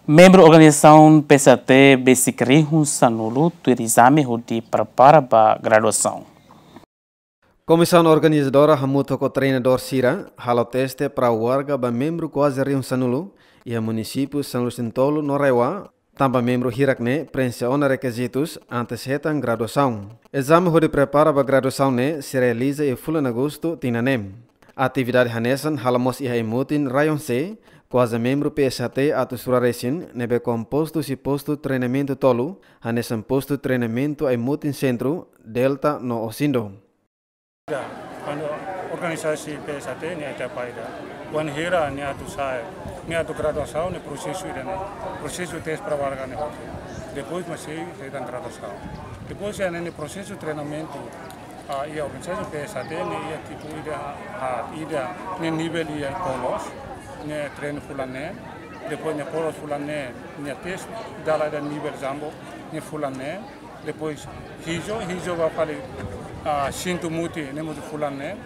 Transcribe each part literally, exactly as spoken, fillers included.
Membru organizasaun P S H T besik rihun sanulu tuir ezame hodi prepara ba graduasaun. Komisaun organizadora hamutuk ho treinadór sira halo teste prau warga ba membru kuaze rihun sanulu iha munisípiu sanulu-resin-tolu no RAEOA, tanba membru hirak ne'e preenxe ona rekizitus antes hetan graduasaun. Ezame hodi prepara ba graduasaun ne'e sei realiza iha fulan Agostu tinan ne'e. Atividade hanesan hala'o mós iha ai-mutin RAEONCE, kuaze membru P S H T atus rua resin ne'ebé kompostu husi postu treinamentu tolu, hanesan postu treinamentu ai-mutin sentru, Delta no Osindo. Kuandu organizasaun P S H T ne'e ita paida. Wainhira nia atu sai, nia atu graduasaun ne'e prosesu ida-ne'e. Prosesu teste prau warga ne'e hotu. Depois mak sei hetan graduasaun. Depois iha ne'e prosesu treinamentu, ah, iha organizasaun P S H T ne'e iha tipu ida, ah, ida ne'e nivel iha polos, ne'e treinu fulan neen. Depois ne'e polos fulan neen, ne'e teste dala ida nivel jambo, ne'e fulan neen. Depois hijo, hijo ba fali, ah, sintu mutin, ne'e mutin fulan neen.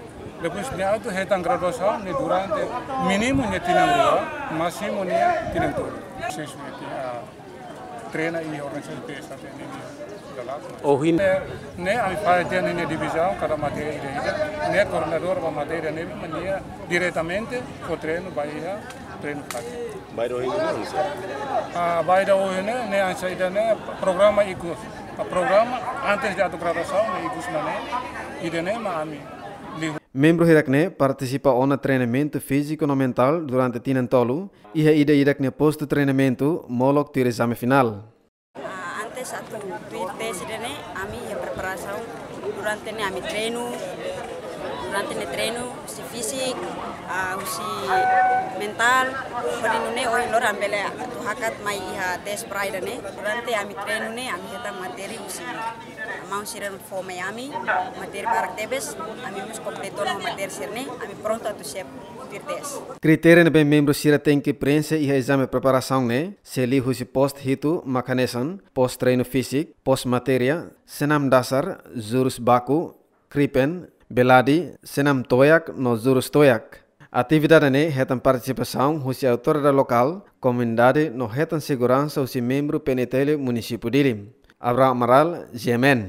Depois nia atu hetan graduasaun, ne'e durante mínimu ne'e tinan rua, másimu ne'e tinan tolu. Prosesu ne'e, ah, treina iha organizasaun P S H T ne'e, ne'e dalan. Ohin. Ne'e, ne'e ami fali tiha ne'e divizaun, kada matéria ida-ida. Ne'e koordenadór ba matéria ne'e, mak nia diretamente fó treinu ba iha treinu prátiku. Bainhira ohin ne'e, ah, bainhira ohin ne'e, ne'e hanesan ida-ne'e programa ikus. Ah, programa antes de atu graduasaun ne'e ikus mak ne'e, ida-ne'e mak ami liu. Membru hirak ne'e partisipa ona treinamentu fíziku no mentál durante tinan tolu, iha ida-idak nia postu treinamentu molok tuir ezame finál. Ah, antes atu tuir teste ida-ne'e, ami iha preparasaun durante ne'e ami treinu, durante ne'e treinu husi fíziku, ah, husi mentál, hodi nune'e ohin loron ami bele atu hakat mai iha teste prau ida-ne'e. Durante ami treinu ne'e, ami hetan matéria husi maun sira fó mai ami, matéria barak tebes, ami mós kompleta ona matéria sira-ne'e, ami prontu atu siap tuir teste. Kritéria ne'ebé membru sira tenke preenxe iha ezame preparasaun ne'e, sei liu husi postu hitu mak hanesan, postu treinu fíziku, postu matéria, senam dasar, jurus baku, kripen, beladi, senam toiak no jurus toiak. Atividade ne'e hetan partisipasaun husi autoridade lokál, komunidade no hetan seguransa husi membru P N T L munisípiu Dili. Abraham Amaral, G M N.